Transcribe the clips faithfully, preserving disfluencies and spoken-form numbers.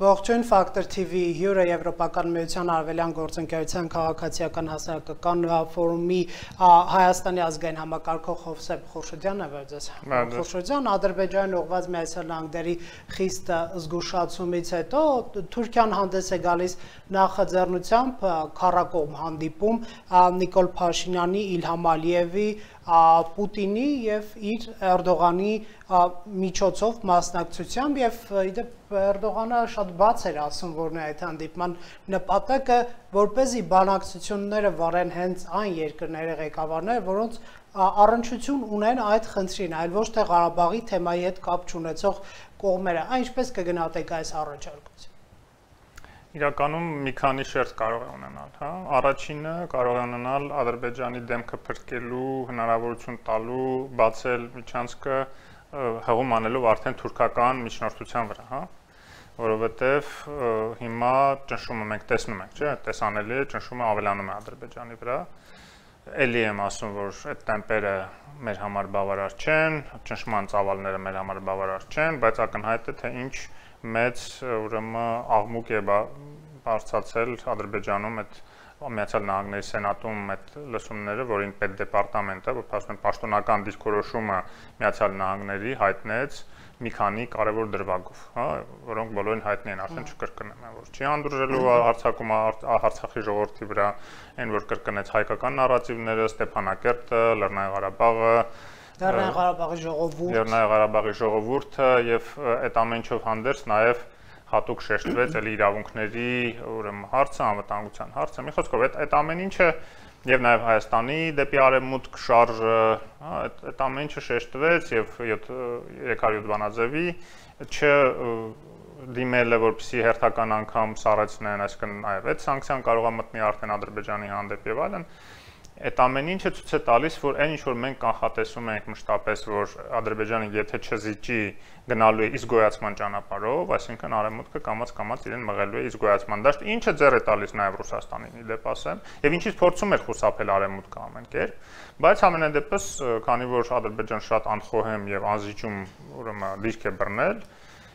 Ողջույն Ֆակտոր T V հյուրը Եվրոպական միության արևելյան գործընկերության քաղաքացիական հասարակական ֆորումի Հայաստանի ազգային համակարգող Հովսեփ Խորշոդյանն է վերջերս։ Խորշոդյան Ադրբեջանին ուղղված Միացյալ Նահանգների խիստ զգուշացումից հետո Թուրքիան հանդես է գալիս նախաձեռնությամբ քառակողմ հանդիպում Նիկոլ Փաշինյանի, Իլհամ Ալիևի, Պուտինի եւ իր Էրդողանի միջոցով մասնակցությամբ եւ իդեպ Էրդողանը շատ բաց էր ասում, որ նա այդ հանդիպման նպատակը որպեսզի բանակցությունները վարեն հենց այն երկրների ղեկավարները, որոնց առնչություն ունեն այդ խնդրին, այլ ոչ թե Ղարաբաղի թեմայի հետ կապ չունեցող կողմերը։ Այն ինչպես կգնահատեք այս առաջարկությունը։ Իրականում մի քանի շերտ կարող է ունենալ, հա։ Առաջինը կարող է ունենալ Ադրբեջանի դեմքը փրկելու հնարավորություն տալու, բացել միջանցքը հղում անելով արդեն թուրքական միջնորդության վրա, հա։ Որովհետև հիմա ճնշումը մենք տեսնում ենք, չէ՞, տեսանելի է, ճնշումը ավելանում է Ադրբեջանի վրա։ Էլի եմ ասում, որ այդ տեմպերը մեր համար բավարար չեն, ճնշման ծավալները մեր համար բավարար չեն, բայց ակնհայտ է, թե ինչ մեծ ուրեմն աղմուկ է բարձրացել Ադրբեջանում այդ Միացյալ Նահանգների Սենատում այդ լսումները, որին պետդեպարտամենտը, որ ասում են պաշտոնական դիրքորոշումը Միացյալ Նահանգների հայտնեց մի քանի կարևոր դրվագով, հա, որոնք բոլորին հայտնի են, արդեն չկրկնեմ, որ չի հանդուրժելու հարձակումը Արցախի ժողովրդի վրա, այն որ կրկնեց հայկական նարատիվները, Ստեփանակերտը, Լեռնային Ղարաբաղը, Լեռնային Ղարաբաղի ժողովուրդը, Լեռնային Ղարաբաղի ժողովուրդը եւ այդ ամենչով հանդերձ նաեւ հատուկ շեշտվեց էլի իրավունքների ուրեմն հարցը, անվտանգության հարցը։ Մի խոսքով այդ այդ ամեն ինչը եւ նաեւ Հայաստանի դեպի արևմուտք շարժը, հա, այդ ամեն ինչը շեշտվեց եւ երեք հարյուր բանաձևի չ դիմելը, որպեսզի հերթական անգամ սառեցնեն, այսինքն նաեւ այդ սանկցիան կարող է մտնի արդեն Ադրբեջանի հանդեպ եւ այլն։ Այդ ամեն ինչը ցույց է տալիս, որ այն ինչ որ մենք կանխատեսում ենք մշտապես, որ Ադրբեջանը եթե չզիջի գնալու է իսգոյացման ճանապարհով, այսինքն արևմուտքը կամաց-կամաց իրեն մղելու է իսգոյացման դաշտ, ինչը ձեռ է տալիս նաև Ռուսաստանին, իդեպ ասեմ, եւ ինչից փորձում էր խուսափել արևմուտքը ամեն կերպ, բայց ամենադեպս, քանի որ Ադրբեջանը շատ անխոհեմ եւ անզիջում ուրեմն դիրք է բռնել,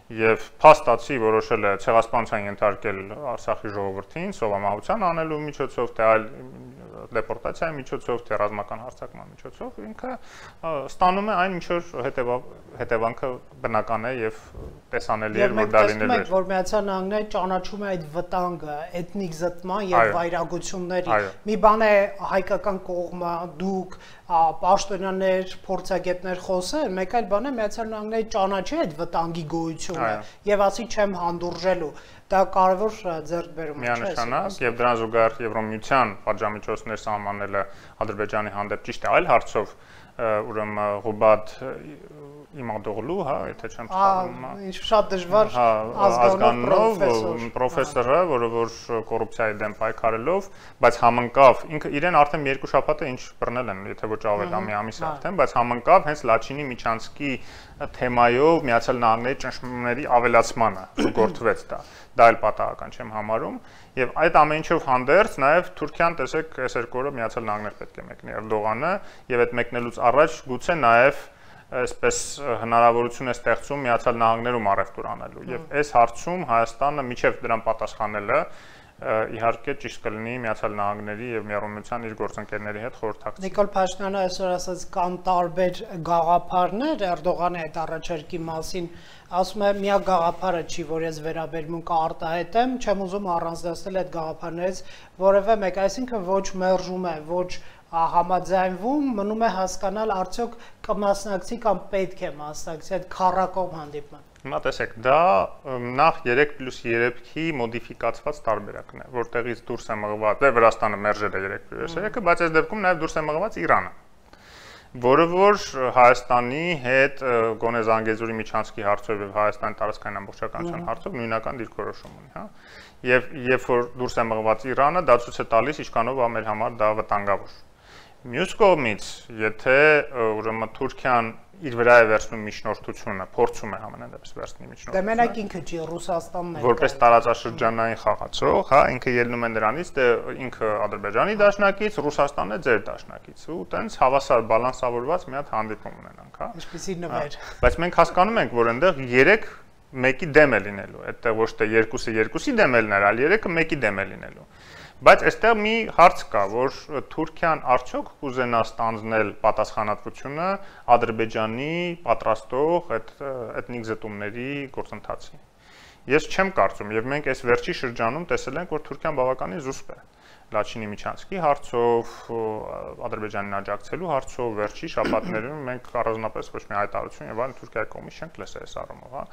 եւ փաստացի որոշել է ցեղասպանության ենթարկել Արցախի ժողովրդին սովամահության անելու միջոցով, թե այլ դեպորտացիայի միջոցով, թե ռազմական հարձակման միջոցով, ինքը ստանում է այն ինչ որ հետևանքը բնական է եւ տեսանելի է, որ դա լինելու է։ Որ Միացյալ Նահանգները ճանաչում է այդ վտանգը, էթնիկ զտման եւ վայրագությունների։ Մի բան է հայկական կողմը, դուք պաշտոնյաներ, փորձագետներ խոսել, մեկ այլ բան է Միացյալ Նահանգները ճանաչի այդ վտանգի գոյությունը եւ ասի չեմ հանդուրժելու։ Դա կարևոր ձեռքբերում է, չէ՞։ Միանշանակ եւ դրան զուգահեռ Եվրոմիության պատժամիջոցներ սահմանելը Ադրբեջանի հանդեպ ճիշտ է այլ հարցով, ուրեմն Ղուբադ Իմադօղլու, հա, եթե չեմ սխալվում, ինչ շատ դժվար ազգանով պրոֆեսորը, որը որ կոռուպցիայի դեմ պայքարելով, բայց համընկավ, ինքը իրեն արդեն երկու շաբաթ է ինչ բռնել են, եթե ոչ ավել ամի ամիս արդեն, բայց համընկավ հենց Լաչինի Միչանսկի թեմայով Միացյալ Նահանգների ճնշումների ավելացմանը, գործվեց դա։ Դա էլ պատահական չեմ համարում, եւ այդ ամեն ինչով հանդերձ նաեւ Թուրքիան, տեսեք, այս երկու օրը Միացյալ Նահանգներ պետք է մեկնի Էրդողանը, եւ այդ մեկնելուց առաջ գուցե նաեւ այսպես հնարավորություն է ստեղծում Միացյալ Նահանգներում առևտուր անելու եւ այս հարցում Հայաստանը միջև դրան պատասխանելը իհարկե ճիշտ կլինի Միացյալ Նահանգների եւ Եվրոմիության իր գործընկերների հետ խորհրդակցել։ Նիկոլ Փաշինյանը այսօր ասաց կան տարբեր գաղափարներ Էրդողանի այդ առաջարկի մասին, ասում է միակ գաղափարը չի, որ ես վերաբերմունք արտահայտեմ, չեմ ուզում առանձնացնել այդ գաղափարներից որևէ մեկ, այսինքն ոչ մերժում է, ոչ համաձայնվում, մնում է հասկանալ արդյոք կմասնակցի կամ պետք է մասնակցի այդ քառակողմ հանդիպման։ Հիմա տեսեք, դա նախ երեք պլյուս երեքի մոդիֆիկացված տարբերակն է, որտեղից դուրս է մղված, դե Վրաստանը մերժել է երեք պլյուս երեքը, բայց այս դեպքում նաև դուրս է մղված Իրանը, որը որ Հայաստանի հետ գոնե Զանգեզուրի Միչանսկի հարցով եւ Հայաստանի տարածքային ամբողջականության հարցով նույնական դիրքորոշում ունի, հա։ Եվ երբ որ դուրս է մղված Իրանը, դա ցույց է տալիս ինչքանով է մեր համար դա վտանգավոր։ Մյուս կողմից, եթե ուրեմն Թուրքիան իր վրա է վերցնում միջնորդությունը, փորձում է համենայն դեպս վերցնել միջնորդությունը։ Դե մենակ ինքը չի Ռուսաստանն է։ Որպես տարածաշրջանային խաղացող, հա, ինքը ելնում է նրանից, դե ինքը Ադրբեջանի դաշնակից, Ռուսաստանն է ձեր դաշնակից, ու տենց հավասար բալանսավորված մի հատ հանդիպում ունենանք, հա։ Ինչպեսի նվեր։ Բայց մենք հասկանում ենք, որ այնտեղ երեք մեկի դեմ է լինելու, այդտեղ ոչ թե երկուսը երկուսի դեմ է լինել, այլ երեքը մեկի դեմ է լինելու։ Բայց այստեղ մի հարց կա, որ Թուրքիան արդյոք կուզենա ստանձնել պատասխանատվությունը Ադրբեջանի պատրաստող այդ էթնիկ զտումների գործընթացի։ Ես չեմ կարծում, եւ մենք այս վերջի շրջանում տեսել ենք, որ Թուրքիան բավականին զուսպ է Լաչինի Միչանսկի հարցով, Ադրբեջանին աջակցելու հարցով, վերջի շաբաթներում մենք առանձնապես ոչ մի հայտարարություն եւ այլն Թուրքիայի կողմից չենք լսել այս առումով, հա։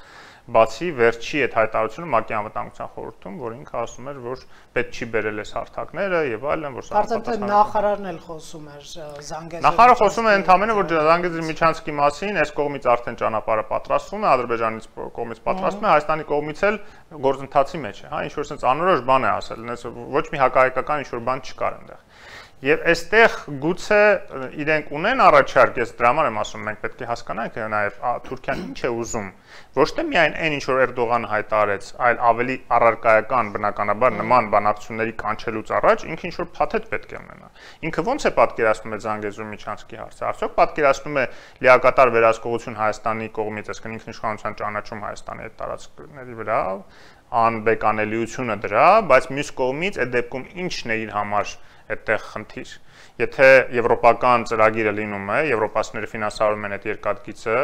Բացի վերջի այդ հայտարարությունը ՄԱԿ-ի անվտանգության խորհրդում, որ ինքը ասում էր, որ պետք չի բերել այս հարթակները եւ այլն, որ սա պատասխան։ Նախարարն էլ խոսում էր Զանգեզուրի։ Նախարարը խոսում է ընդհանրապես, որ Զանգեզուրի Միչանսկի մասին այս կողմից արդեն ճանապարհը պատրաստվում է, Ադրբեջանից կողմից պատրաստվում է, Հայաստանի կողմից էլ գործընթացի մեջ է, հա, ինչ որ sense անորոշ բան է ասել, ոչ մի հակահայկական ինչ որ բան չկար այնտեղ։ Եվ այստեղ գուցե իրենք ունեն առաջարկ, ես դրա համար եմ ասում, մենք պետք է հասկանանք նաև Թուրքիան ինչ է ուզում, ոչ թե միայն այն ինչ որ Էրդողանը հայտարարեց, այլ ավելի առարկայական բնականաբար նման բանակցությունների կանչելուց առաջ ինքը ինչ որ փաթեթ պետք է ունենա։ Ինքը ոնց է պատկերացնում է Զանգեզուրի Միչանսկի հարցը, արդյոք պատկերացնում է լիակատար վերահսկողություն Հայաստանի կողմից, այսինքն ինքնիշխանության ճանաչում Հայաստանի այդ տարածքների վրա, անբեկանելիությունը դրա, բայց մյուս կողմից այդ դեպքում ինչն է իր համար այդտեղ խնդիր։ Եթե եվրոպական ծրագիրը լինում է, եվրոպացիները ֆինանսավորում են այդ երկաթգիծը,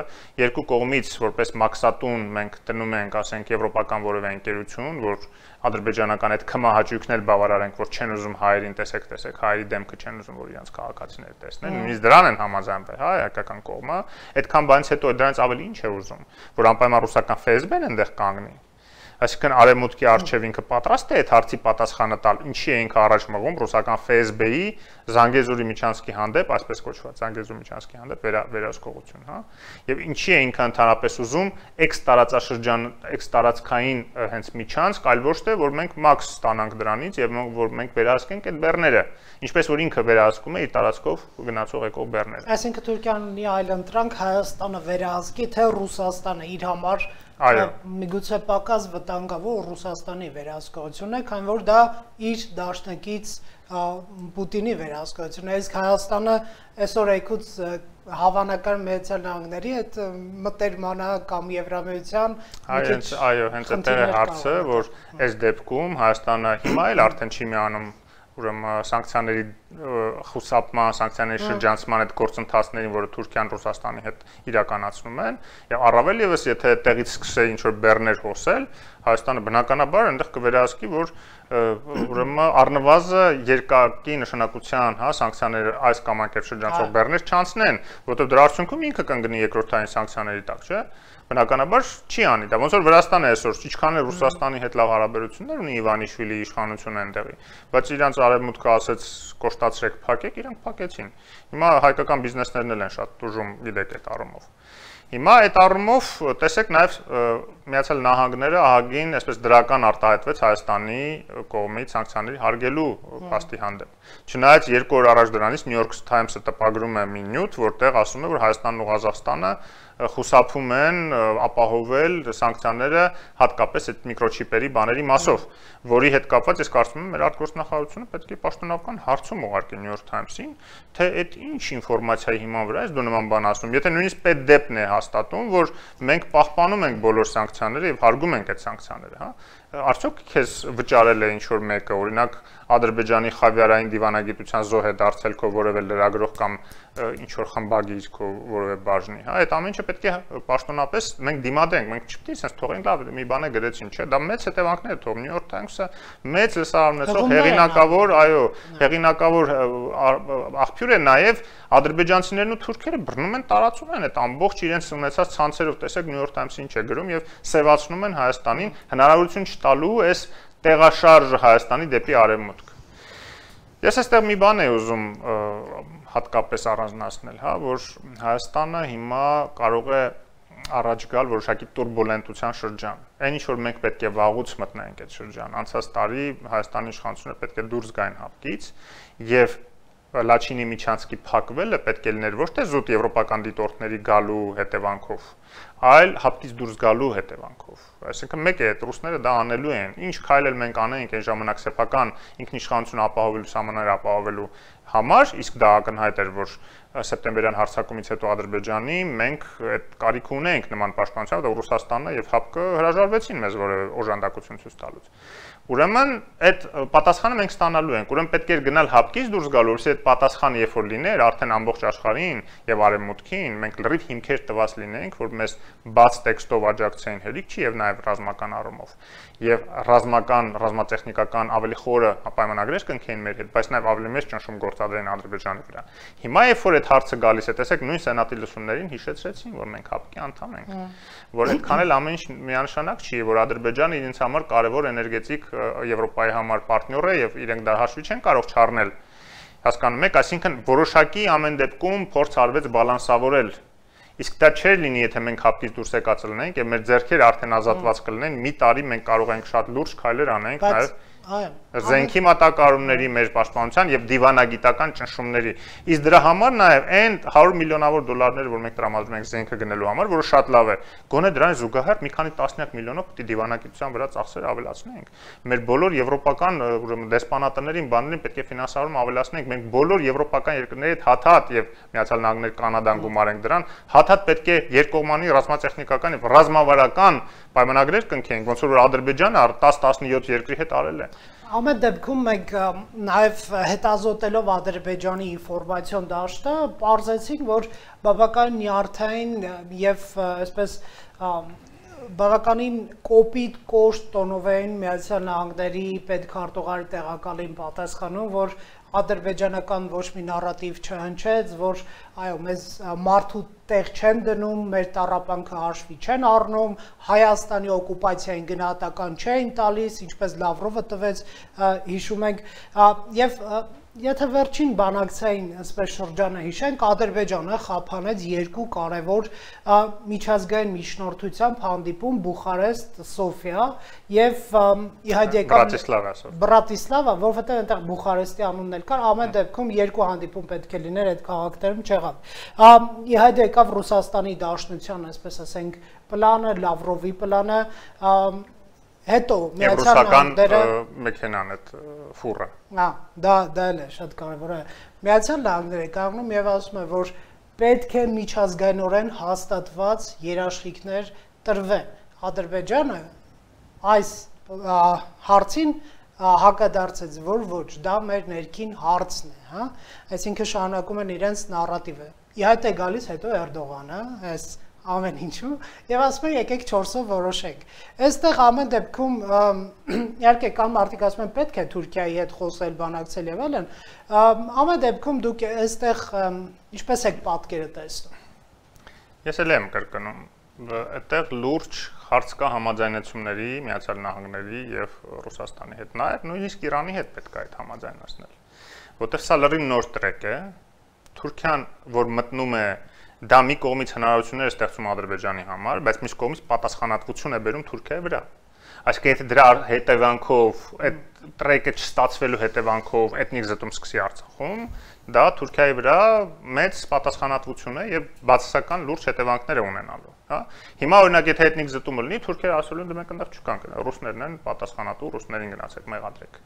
երկու կողմից որպես մաքսատուն մենք դնում ենք, ասենք, եվրոպական որևէ ընկերություն, որ ադրբեջանական այդ քմահաճույքն էլ բավարարենք, որ չեն ուզում հայերին տեսեք, տեսեք, հայերի դեմքը չեն ուզում, որ իրենց քաղաքացիները տեսնեն, նույնիսկ դրան են համաձայնվել, հա, հայկական կողմը, այդքան բանից հետո դրանից ավելի ինչ է ուզում, որ անպայման ռուսական Ֆ Էս Բեն այնտեղ կանգնի։ Այսինքն արևմուտքի արչև ինքը պատրաստ է այդ հարցի պատասխանը տալ, ինչի է ինքը առաջ մղում ռուսական Ֆ Էս Բի Զանգեզուրի Միչանսկի հանդեպ, այսպես կոչված Զանգեզուրի Միչանսկի հանդեպ վերահսկողություն, հա, եւ ինչի է ինքը ընդհանրապես ուզում էքս տարածաշրջան, էքս տարածքային հենց Միչանսկ, այլ ոչ թե որ մենք մաքս ստանանք դրանից եւ որ մենք վերահսկենք այդ բեռները, ինչպես որ ինքը վերահսկում է իր տարածքով գնացող եկող բեռները։ Այսինքն Թուրքիան ունի այլ ընտրանք Հայաստանը վերահսկի, թե Ռուսաստանը իր համար միգուցե պակաս վտանգավոր Ռուսաստանի վերահսկողությունն է, քանի որ դա իր դաշնակից Պուտինի վերահսկողությունն է, իսկ Հայաստանը այսօր այգուց հավանական Միացյալ Նահանգների այդ մտերմանը կամ Եվրամիության այո, հենց այդտեղ է հարցը, որ այս դեպքում Հայաստանը հիմա էլ արդեն չի միանում ուրեմն սանկցիաների խուսափման, սանկցիաների շրջանցման այդ գործընթացներին, որը Թուրքիան Ռուսաստանի հետ իրականացնում են, եւ առավել եւս եթե այդտեղից սկսեի ինչ-որ բեռներ հոսել, Հայաստանը բնականաբար այնտեղ կվերահսկի, որ ուրեմն առնվազն երկակի նշանակության, հա, սանկցիաները այս կամ այն կերպ շրջանցող բեռներ չանցնեն, որովհետեւ դրա արդյունքում ինքը կընկնի երկրորդային սանկցիաների տակ, չէ՞։ Բնականաբար չի անի դա, ոնց որ Վրաստանը այսօր ինչքան է Ռուսաստանի հետ լավ հարաբերություններ ունի Իվանիշվիլի իշխանությունը այնտեղի, բայց իրանց արևմուտքը ասեց կոշտացրեք, փակեք, իրանք փակեցին։ Հիմա հայկական բիզնեսներն էլ են շատ դժում, գիտեք այդ առումով։ Հիմա այդ առումով տեսեք նաև Միացյալ Նահանգները ահագին այսպես դրական արտահայտվեց Հայաստանի կողմից սանկցիաների հարգելու փաստի հանդեպ։ Չնայած երկու օր առաջ դրանից New York Times-ը տպագրում է մի նյութ, որտեղ ասում է, որ Հայաստանն ու Ղազախստանը խուսափում են ապահովել սանկցիաները հատկապես այդ միկրոչիպերի բաների մասով, որի հետ կապված ես կարծում եմ մեր արտգործնախարարությունը պետք է պաշտոնական հարցում ուղարկի New York Times-ին, թե այդ ինչ ինֆորմացիայի հիման վրա ես դու նման բան ասում։ Եթե նույնիսկ պետդեպն է հաստատում, որ մենք պահպանում ենք բոլոր սանկցիաները եւ հարգում ենք այդ սանկցիաները, հա, արդյոք քեզ վճարել է ինչ որ մեկը, օրինակ Ադրբեջանի խավիարային դիվանագիտության զոհ է դարձել քո որևէ լրագրող կամ ինչ որ խմբագիր քո որևէ բաժնի, հա, այդ ամեն ինչը պետք է պաշտոնապես մենք դիմադենք, մենք չպետք է sense թողենք լավ մի բան է գրեցին, չէ, դա մեծ հետևանքներ թող New York Times-ը մեծ լսարումնեցող հեղինակավոր, այո, հեղինակավոր աղբյուր է նաև ադրբեջանցիներն ու թուրքերը բռնում են տարածում են այդ ամբողջ իրենց ունեցած ցանցերով, տեսեք New York Times-ը ինչ է գրում եւ սևացնում են Հայաստանին հնարավորություն չտալու այս տեղաշարժը Հայաստանի դեպի արևմուտք։ Ես այստեղ մի բան եմ ուզում հատկապես առանձնացնել, հա, որ Հայաստանը հիմա կարող է առաջ գալ որոշակի տուրբուլենտության շրջան։ Այն ինչ որ մենք պետք է վաղուց մտնենք այդ շրջան, անցած տարի Հայաստանի իշխանությունները պետք է դուրս գային հապկից եւ Լաչինի միջանցքի փակվելը պետք է լիներ ոչ թե զուտ եվրոպական դիտորդների գալու հետևանքով, այլ հապկից դուրս գալու հետևանքով։ Այսինքն մեկ է, այդ ռուսները դա անելու են։ Ինչ քայլ էլ մենք անենք այն ժամանակ սեփական ինքնիշխանություն ապահովելու, սահմաններ ապահովելու համար, իսկ դա ակնհայտ էր, որ սեպտեմբերյան հարձակումից հետո Ադրբեջանի մենք այդ կարիք ունենք նման պաշտպանության, որտեղ Ռուսաստանն եւ ՀԱՊԿ հրաժարվեցին մեզ որևէ օժանդակություն ցույց տալուց։ Ուրեմն այդ պատասխանը մենք ստանալու ենք։ Ուրեմն պետք է գնալ ՀԱՊԿ-ից դուրս գալու, որովհետեւ այդ պատասխանը երբ որ լիներ, արդեն ամբողջ աշխարհին եւ արևմուտքին մենք լրիվ հիմքեր տված լինենք, որ մեզ բաց տեքստով աջակցեն հերիք չի եւ նաեւ ռազմական առումով։ Եվ ռազմական, ռազմատեխնիկական ավելի խորը պայմանագրեր կնքեին մեր հետ, բայց նաեւ ավելի մեծ ճնշում գործադրեն Ադրբեջանի վրա։ Հիմա երբ որ այդ հարցը գալիս է, տեսեք, նույն սենատի լսումներին հիշեցրեցին, որ մենք ՀԱՊԿ-ի անդամ ենք, որ այդքան էլ ամեն ինչ միանշանակ չի, որ Ադրբեջանը իրենց համար կարևոր էներգետիկ Եվրոպայի համար պարտներ է եւ իրենք դա հաշվի չեն կարող չառնել։ Հասկանում եք, այսինքն որոշակի ամեն դեպքում փորձ արվեց բալանսավորել։ Իսկ դա չէր լինի, եթե մենք ՀԱՊԿ-ից դուրս եկած լինենք եւ մեր ձեռքերը արդեն ազատված կլինեն, մի տարի մենք կարող ենք շատ լուրջ քայլեր անենք, նաեւ Զենքի մատակարարումների մեր պաշտպանության եւ դիվանագիտական ճնշումների։ Իսկ դրա համար նաեւ այն հարյուր միլիոնավոր դոլարները, որ մենք տրամադրում ենք զենքը գնելու համար, որը շատ լավ է, գոնե դրան զուգահեռ մի քանի տասնյակ միլիոնով պիտի դիվանագիտության վրա ծախսերը ավելացնենք։ Մեր բոլոր եվրոպական ուրեմն դեսպանատներին, բաներին պետք է ֆինանսավորում ավելացնենք։ Մենք բոլոր եվրոպական երկրների հետ հաթաթ եւ Միացյալ Նահանգներ, Կանադան գումարենք դրան, հաթաթ պետք է երկկողմանի ռազմատեխնիկական եւ ռազմավարական պայմանագրեր կնքենք, ոնց որ Ադրբեջանը դես տասնյոթ երկրի հետ արել է։ Ամեն դեպքում մենք նաև հետազոտելով Ադրբեջանի ինֆորմացիոն դաշտը պարզեցինք, որ բավական նյարդային եւ այսպես բավականին կոպիտ կոշտ տոնով էին Միացյալ Նահանգների պետքարտուղարի տեղակալին պատասխանում, որ ադրբեջանական ոչ մի նարատիվ չհնչեց, որ այո, մեզ մարդու տեղ չեն դնում, մեր տառապանքը հաշվի չեն առնում, Հայաստանի օկուպացիային գնահատական չէին տալիս, ինչպես Լավրովը տվեց, հիշում ենք, եւ եթե վերջին բանակցային այսպես շրջանը հիշենք, Ադրբեջանը խափանեց երկու կարևոր միջազգային միջնորդությամբ հանդիպում Բուխարեստ, Սոֆիա եւ իհարկե Բրատիսլավա, որովհետեւ այնտեղ Բուխարեստի անունն էլ կար, ամեն դեպքում երկու հանդիպում պետք է լիներ այդ քաղաքներում չեղավ։ Իհարկե եկավ Ռուսաստանի Դաշնության, այսպես ասենք, պլանը, Լավրովի պլանը, հետո Միացյալ Նահանգները մեքենան այդ ֆուրը։ Հա, դա դա էլ է շատ կարևոր է։ Միացյալ Նահանգները կանգնում եւ ասում է, որ պետք է միջազգայինորեն հաստատված երաշխիքներ տրվեն։ Ադրբեջանը այս հարցին հակադարձեց, որ ոչ, դա մեր ներքին հարցն է, հա։ Այսինքն շարունակում են իրենց նարատիվը։ Իհարկե գալիս հետո Էրդողանը, այս ամեն ինչու եւ ասում են եկեք չորսով որոշենք։ Այստեղ ամեն դեպքում իհարկե կան մարդիկ ասում են պետք է Թուրքիայի հետ խոսել, բանակցել եւ այլն, ամեն դեպքում դուք այստեղ ինչպես եք պատկերը տեսնում։ Ես էլ եմ կրկնում, այդտեղ լուրջ հարց կա համաձայնությունների Միացյալ Նահանգների եւ Ռուսաստանի հետ, նաեւ նույնիսկ Իրանի հետ պետք է այդ համաձայնացնել, որտեղ սա լրիվ նոր տրեք է, Թուրքիան, որ մտնում է դա մի կողմից հնարավորություններ է ստեղծում Ադրբեջանի համար, բայց մյուս կողմից պատասխանատվություն է բերում Թուրքիայի վրա։ Այսինքն եթե դրա հետևանքով, այդ տրեկը չստացվելու հետևանքով էթնիկ զտում սկսի Արցախում, դա Թուրքիայի վրա մեծ պատասխանատվություն է եւ բացասական լուրջ հետևանքներ է ունենալու, հա։ Հիմա օրինակ եթե էթնիկ զտումը լինի, Թուրքիան ասելու են մենք այնտեղ չկանք, ռուսներն են պատասխանատու, ռուսներին գնացեք մեղադրեք։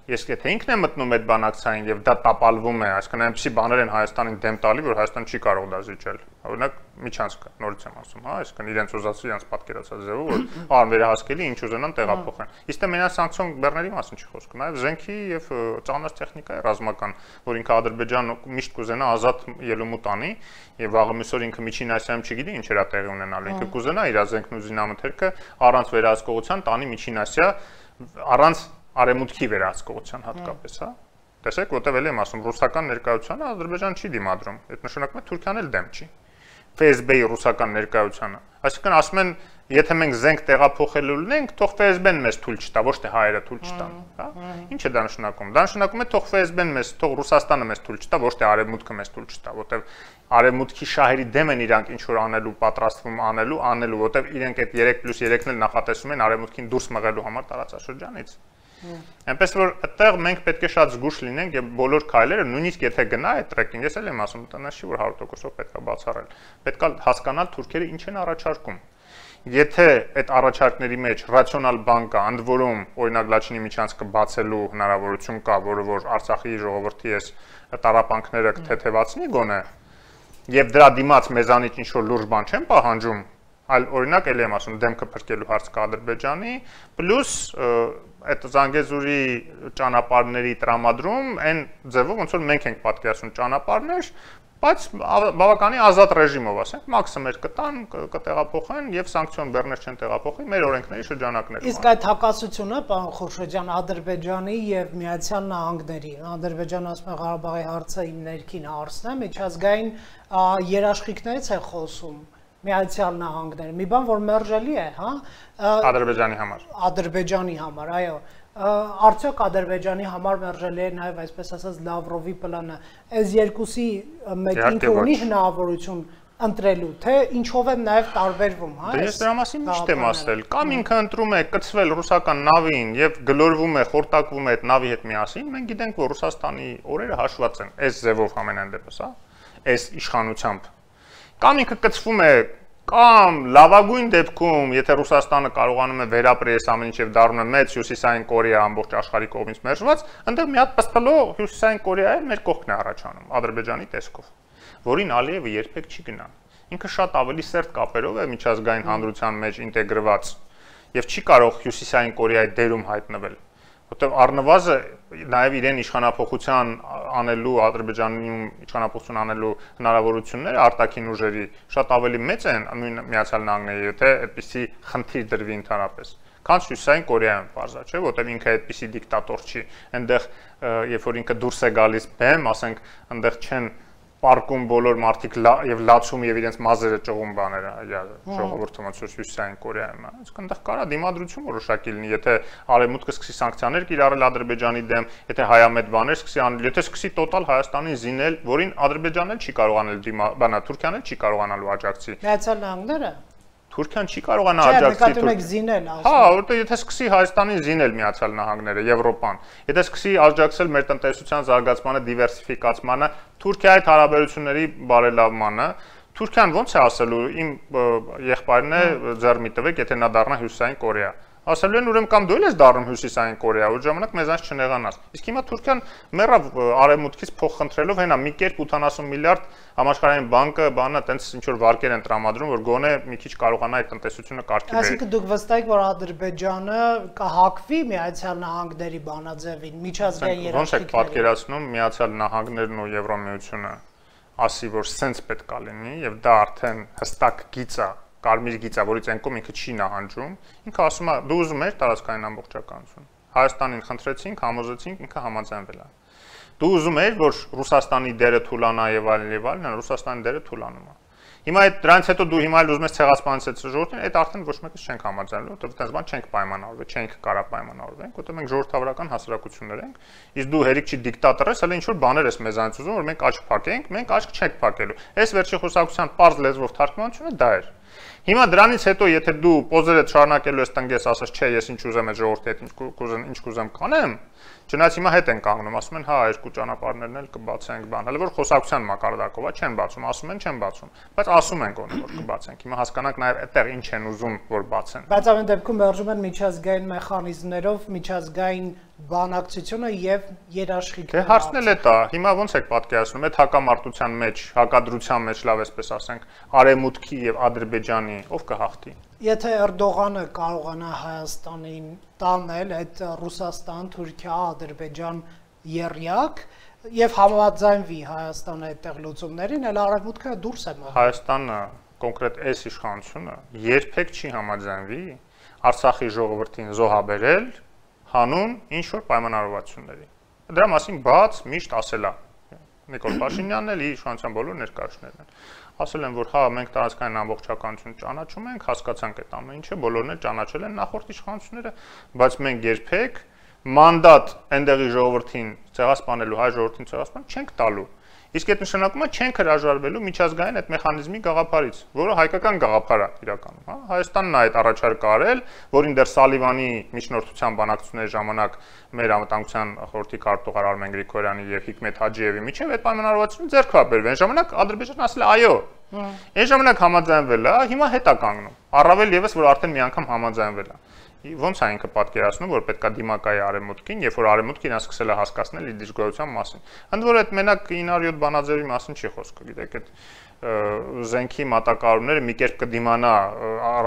Ես եթե ինքն է մտնում այդ բանակցային եւ դա տապալվում է, այսինքն այնպեսի բաներ են Հայաստանին դեմ տալի, որ Հայաստանը չի կարող դա զիջել։ Օրինակ միջանցքը, նորից եմ ասում, հա, այսինքն իրենց ուզածի, իրենց պատկերացած ձևով, որ անվերահասկելի ինչ ուզենան տեղափոխեն։ Իսկ դե մենակ սանկցիոն բեռների մասին չի խոսքը, նաեւ զենքի եւ ծանր տեխնիկայի ռազմական, որ ինքը Ադրբեջանը միշտ կուզենա ազատ ելումուտ անի եւ վաղը մյուսօր ինքը Միջին Ասիայում չգիտի ինչ էր տեղի ունենալու, ինքը կուզենա իր զենքն ու զինամթերքը առանց վերահսկողության տանի Միջին Ասիա, առանց արեմուտքի վերահսկողության հատկապես, հա։ Տեսեք, որտեղ էլ եմ ասում, ռուսական ներկայությանը Ադրբեջան չի դիմադրում։ Այդ նշանակում է Թուրքիան էլ դեմ չի։ Ֆ S B-ի ռուսական ներկայությանը։ Այսինքն ասում են, եթե մենք զենք տեղափոխելու լինենք, թող F S B-ն մեզ թույլ չտա, ոչ թե հայերը թույլ չտան, հա։ Ինչ է դա նշանակում։ Դա նշանակում է թող F S B-ն մեզ, թող Ռուսաստանը մեզ թույլ չտա, ոչ թե արևմուտքը մեզ թույլ չտա, որտեղ արևմուտքի շահերի դեմ են իրանք ինչ որ անելու, պատրաստվում անելու, անելու, որտեղ իրենք այդ երեք պլյուս երեքն էլ նախատեսում են արևմուտքին դուրս մղելու համար տարածաշրջանից։ Այնպես որ այդտեղ մենք պետք է շատ զգուշ լինենք եւ բոլոր քայլերը, նույնիսկ եթե գնա այդ տրեկին, ես էլ եմ ասում, տնտես չի որ հարյուր տոկոսով պետք է բացառել։ Պետք է հասկանալ թուրքերը ինչ են առաջարկում։ Եթե այդ առաջարկների մեջ ռացիոնալ բան կա, ընդ որում օրինակ Լաչինի միջանցքը բացելու հնարավորություն կա, որը որ Արցախի ժողովրդի այս տարապանքները կթեթևացնի գոնե, եւ դրա դիմաց մեզանից ինչ որ լուրջ բան չեն պահանջում, այլ օրինակ էլ եմ ասում դեմքը փրկելու հարց կա Ադրբեջանի, պլյուս այդ Զանգեզուրի ճանապարհների տրամադրում այն ձևով ոնց որ մենք ենք պատկերացնում ճանապարհներ, բայց բավականին ազատ ռեժիմով, ասենք, մաքսիմեր կտան, կտեղափոխեն եւ սանկցիոն բեռներ չեն տեղափոխի մեր օրենքների շրջանակներում։ Իսկ այդ հակասությունը, պարոն Խորշոջյան, Ադրբեջանի եւ Միացյալ Նահանգների, Ադրբեջանը ասում է Ղարաբաղի հարցը իմ ներքին հարցն է, միջազգային երաշխիքներից է խոսում Միացյալ Նահանգները, մի բան որ մերժելի է, հա, Ադրբեջանի համար։ Ադրբեջանի համար, այո։ Արդյոք Ադրբեջանի համար մերժելի է նաև այսպես ասած Լավրովի պլանը, այս երկուսի մեկին կունի հնարավորություն ընտրելու, թե ինչով են նաև տարբերվում, հա։ Դե ես դրա մասին միշտ եմ ասել, կամ ինքը ընտրում է կցվել ռուսական նավին եւ գլորվում է, խորտակվում է այդ նավի հետ միասին, մենք գիտենք, որ Ռուսաստանի օրերը հաշված են, այս ձևով ամենայն դեպս, հա, այս իշխանությամբ։ Կամ ինքը կցվում է կամ լավագույն դեպքում, եթե Ռուսաստանը կարողանում է վերապրել այս ամեն ինչ եւ դառնում է մեծ հյուսիսային Կորեա ամբողջ աշխարհի կողմից մերժված, այնտեղ մի հատ պստլո հյուսիսային Կորեա է մեր կողքն է առաջանում Ադրբեջանի տեսքով, որին Ալիևը երբեք չի գնա։ Ինքը շատ ավելի սերտ կապերով է միջազգային հանրության մեջ ինտեգրված եւ չի կարող հյուսիսային Կորեայի դերում հայտնվել, որտեղ առնվազը նաև իրեն իշխանապողության անելու Ադրբեջանում իշխանապողություն անելու հնարավորությունները արտաքին ուժերի շատ ավելի մեծ են նույն Միացյալ Նահանգների, եթե այդպիսի խնդիր դրվի ընդհանրապես։ Քան Հյուսիսային Կորեայում բարձա, չէ, որտեղ ինքը այդպիսի դիկտատոր չի, այնտեղ երբ որ ինքը դուրս է գալիս բեմ, ասենք, այնտեղ չեն պարկում բոլոր մարդիկ եւ լացում եւ իրենց մազերը ճողում բաները ժողովրդը ոնց որ Հյուսիսային Կորեայում, այսինքն այնտեղ կարա դիմադրություն որոշակի լինի, եթե արևմուտքը սկսի սանկցիաներ կիրառել Ադրբեջանի դեմ, եթե հայամետ բաներ սկսի անել, եթե սկսի տոտալ Հայաստանին զինել, որին Ադրբեջանն էլ չի կարողանել դիմա, բանա Թուրքիան էլ չի կարողանալու աջակցի։ Միացյալ Նահանգները Թուրքիան չի կարողանա աջակցի։ Հա, որտեղ եթե սկսի Հայաստանին զինել Միացյալ Նահանգները, Եվրոպան, եթե սկսի աջակցել մեր տնտեսության զարգացմանը, դիվերսիֆիկացմանը, Թուրքիայի հարաբերությունների բարելավմանը, Թուրքիան ոնց է ասելու, իմ եղբայրն է ձեռ մի տվեք, եթե նա դառնա Հյուսիսային Կորեա։ Ասելու են ուրեմն կամ դու ես դառնում Հյուսիսային Կորեա, որ ժամանակ մեզանց չնեղանաս։ Իսկ հիմա Թուրքիան մեռավ արևմուտքից փող խնդրելով, հենա մի կերպ ութանասուն միլիարդ համաշխարհային բանկը, բանը տենց ինչ որ վարկեր են տրամադրում, որ գոնե մի քիչ կարողանա այդ տնտեսությունը կարգի բերել։ Այսինքն դուք վստահ եք, որ Ադրբեջանը կհակվի Միացյալ Նահանգների բանաձևին, միջազգային երաշխիքներին։ Ոնց եք պատկերացնում Միացյալ Նահանգներն ու Եվրամիությունը ասի, որ սենց պետք է լինի եւ դա արդեն հստակ գիծ է, կարմիր գիծ է, որից այնքոմ ինքը չի նահանջում, ինքը ասում է դու ուզում ես տարածքային ամբողջականություն։ Հայաստանին խնդրեցինք, համոզեցինք, ինքը համաձայնվել է։ Դու ուզում ես, որ Ռուսաստանի դերը թուլանա եւ այլն եւ այլն, Ռուսաստանի դերը թուլանում է։ Հիմա այդ դրանից հետո դու հիմա ուզում ես ցեղասպանից ժողովրդին, այդ արդեն ոչ մեկս չենք համաձայնելու, որովհետեւ այդպես բան չենք պայմանավորվել, չենք կարա պայմանավորվենք, որովհետեւ մենք ժողովրդավարական հասարակություններ ենք, իսկ դու հերիք չի դիկտատոր ես, հələ ինչ որ բաներ ես մեզանից ուզում, որ մենք աչք փակենք, մենք աչք չենք փակելու։ Այս վերջի խոսակցության པարզ լեզվով թարգմանությունը դա էր։ Հիմա դրանից հետո եթե դու պոզերդ շարունակելու ես տնգես, ասես չէ, ես ինչ ուզեմ այդ ժողովրդի հետ ինչ կուզեմ, ինչ կուզեմ կանեմ, չնայած հիմա հետ են կանգնում, ասում են, հա, երկու ճանապարհներն էլ կբացենք, բան, հələ որ խոսակցության մակարդակով է, չեն բացում, ասում են, չեն բացում, բայց ասում են գոնե որ կբացենք։ Հիմա հասկանանք նաև այդտեղ ինչ են ուզում որ բացեն։ Բայց ամեն դեպքում մերժում են միջազգային մեխանիզմներով միջազգային բանակցությունը եւ երաշխիքները։ Դե հարցն էլ է դա, հիմա ոնց եք պատկերացնում, այդ հակամարտության մեջ, հակադրության մեջ, լավ էսպես ասենք, Արևմուտքի եւ Ադրբեջանի ով կհաղթի։ Եթե Էրդողանը կարողանա Հայաստանին տանել այդ Ռուսաստան, Թուրքիա, Ադրբեջան եռյակ եւ համաձայնվի Հայաստանը այդտեղ լուծումներին, այլ Արևմուտքը դուրս է մղում։ Հայաստանը կոնկրետ այս իշխանությունը երբեք չի համաձայնվի Արցախի ժողովրդին զոհաբերել հանուն ինչ որ պայմանավորվածությունների։ Դրա մասին բաց միշտ ասել է Նիկոլ Փաշինյանն էլ իր իշխանության բոլոր ներկայացուցիչներն են։ Ասել են, որ հա մենք տարածքային ամբողջականություն ճանաչում ենք, հասկացանք այդ ամեն ինչը, բոլորն էլ ճանաչել են նախորդ իշխանությունները, բայց մենք երբեք մանդատ այնտեղի ժողովրդին ցեղասպանելու, հայ ժողովրդին ցեղասպան չենք տալու։ Իսկ այդ նշանակում է չենք հրաժարվելու միջազգային այդ մեխանիզմի գաղափարից, որը հայկական գաղափար է իրականում, հա։ Հայաստանն է այդ առաջարկը արել, որին դեռ Սալիվանի միջնորդության բանակցությունների ժամանակ մեր անվտանգության խորհրդի քարտուղար Արմեն Գրիգորյանի եւ Հիկմետ Հաջիևի միջև այդ պայմանավորվածությունը ձեռք է բերվել։ Այն ժամանակ Ադրբեջանն ասել է այո։ Այն ժամանակ համաձայնվել է, հիմա հետ է կանգնում։ Առավել եւս որ արդեն մի անգամ համաձայնվել է։ Ոնց է ինքը պատկերացնում, որ պետքա դիմակայի արևմուտքին, երբ որ արևմուտքին ասկսել է հասկացնել իր դժգոհության մասին։ Ընդ որում այդ մենակ ինը յոթ բանաձևի մասին չի խոսքը, գիտեք, այդ զենքի մատակարարումները մի կերպ կդիմանա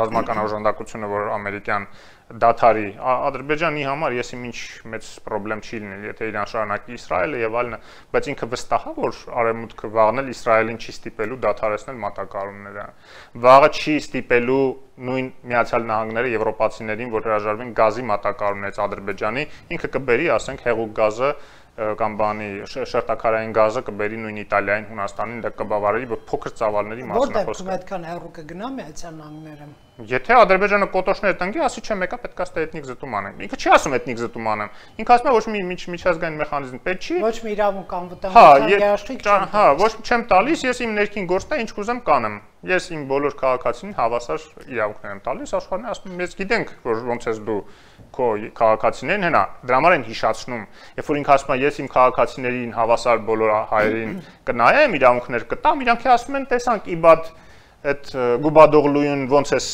ռազմական օժանդակությունը, որ ամերիկյան դաթարի Ադրբեջանի համար ես իմ ինչ մեծ խնդրեմ չի լինել, եթե իրան շարունակի Իսրայելը եւ այլն, բայց ինքը վստահ է, որ արևմուտքը վաղնել Իսրայելին չի ստիպելու դադարեցնել մատակարարումները։ Վաղը չի ստիպելու նույն Միացյալ Նահանգները եվրոպացիներին, որ հրաժարվեն գազի մատակարարումներից Ադրբեջանի, ինքը կբերի, ասենք, հեղուկ գազը կամ բանի շերտաքարային գազը կբերի նույն Իտալիային, Հունաստանին, դա կբավարարի փոքր ծավալների մասին է խոսքը։ Որտեղ այդքան հեռու կգնա Միացյալ Նահանգները։ Եթե Ադրբեջանը կոտոշներ տնկի, ասի չէ, մեկը պետք է ստե էթնիկ զտում անեն։ Ինքը չի ասում էթնիկ զտում անեմ։ Ինքը ասում է ոչ մի միջազգային մեխանիզմ պետք չի։ Ոչ մի իրավունք անվտանգության երաշխիք չի։ Հա, ոչ չեմ տալիս, ես իմ ներքին գործն է, ինչ կուզեմ կանեմ։ Ես իմ բոլոր քաղաքացիներին հավասար իրավունքներ եմ տալիս, աշխարհն ասում ես գիտենք, որ ոնց ես դու քո քաղաքացիներին հենա, դրա համար են հիշացնում։ Երբ որ ինքը ասում է ես իմ քաղաքացիներին հավասար բոլոր հայերին կնայեմ, իրավունքներ կտամ, իրանք ասում են տեսանք իբադ այդ Գուբադօղլուին ոնց էս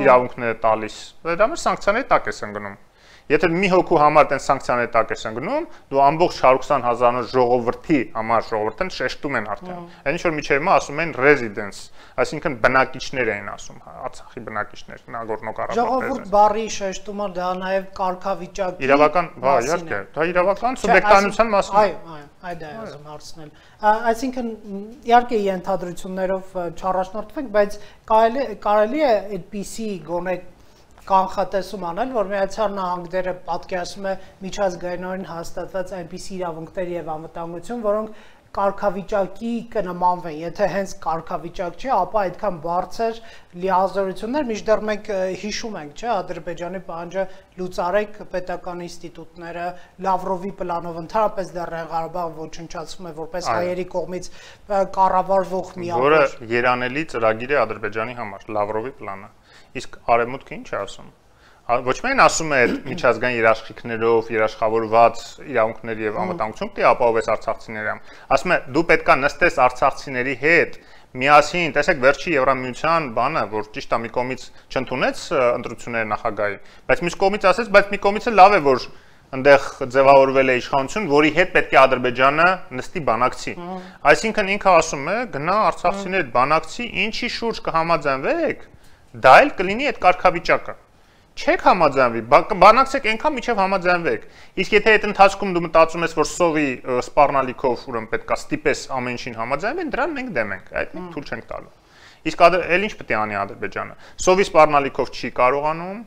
իրավունքները տալիս։ Դա մեր սանկցիաների տակ ես ընկնում։ Եթե մի հոգու համար տեն սանկցիաների տակ ես ընկնում, դու ամբողջ հարյուր քսան հազարով ժողովրդի համար ժողովրդին շեշտում են արդեն։ Այն ինչ որ միջև հիմա ասում են residents, այսինքն բնակիչներ են ասում, Արցախի բնակիչներ, Նագորնո Ղարաբաղի։ Ժողովուրդ բառի շեշտումը դա նաև կարգավիճակի իրավական, հա, իհարկե, դա իրավական սուբյեկտանության մասին է։ Այո, այո, այդ է ասում հարցնել։ Այսինքն իհարկե ենթադրություններով չառաջնորդվենք, բայց կարելի կարելի է այդպիսի գոնե կանխատեսում անել, որ Միացյալ Նահանգները պատկերացնում է միջազգայինորեն հաստատված այնպիսի իրավունքներ եւ անվտանգություն, որոնք կարգավիճակի կնմանվեն, եթե հենց կարգավիճակ չի, ապա այդքան բարձր լիազորություններ, մինչդեռ մենք հիշում ենք, չէ, Ադրբեջանի պահանջը լուծարեք պետական ինստիտուտները, Լավրովի պլանով ընդհանրապես Լեռնային Ղարաբաղը ոչնչացվում է որպես հայերի կողմից կառավարվող միավոր, որը երանելի ծրագիր է Ադրբեջանի համար, Լավրովի պլանը։ Իսկ արևմուտքը ինչ է ասում։ Ոչ միայն ասում է միջազգային երաշխիքներով երաշխավորված իրավունքներ եւ անվտանգություն պետք է ապահովես արցախցիներին։ Ասում է դու պետքա նստես արցախցիների հետ միասին, տեսեք վերջի Եվրամիության բանը, որ ճիշտ է մի կողմից չընդունեց ընտրությունների նախագահի, բայց մյուս կողմից ասեց, բայց մի կողմից լավ է որ այնտեղ ձևավորվել է իշխանություն, որի հետ պետք է Ադրբեջանը նստի բանակցի։ Այսինքն ինքը ասում է գնա արցախցիների բանակցի, ինչի շուրջ կհամաձայնվեք, դա էլ կլինի այդ կարգավիճակը։ Չեք համաձայնվի, բանակցեք այնքան միջև համաձայնվեք։ Իսկ եթե այդ ընթացքում դու մտածում ես, որ սովի սպառնալիքով ուրեմն պետքա ստիպես ամեն ինչին համաձայնվեն, դրան մենք դեմ ենք, այդ մենք թույլ չենք տալու։ Իսկ էլ ինչ պետք է անի Ադրբեջանը։ Սովի սպառնալիքով չի կարողանում,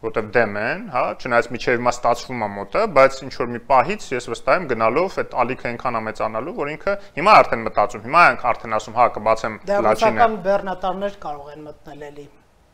որտեղ դեմ են, հա, չնայած միջև հիմա ստացվում է մոտը, բայց ինչ որ մի պահից ես վստահ եմ գնալով այդ ալիքը այնքան է մեծանալու, որ ինքը հիմա արդեն մտածում, հիմա ենք արդեն ասում, հա, կբացեմ Լաչինը։ Դեռ բեռնատարներ կարող են մտնել էլի։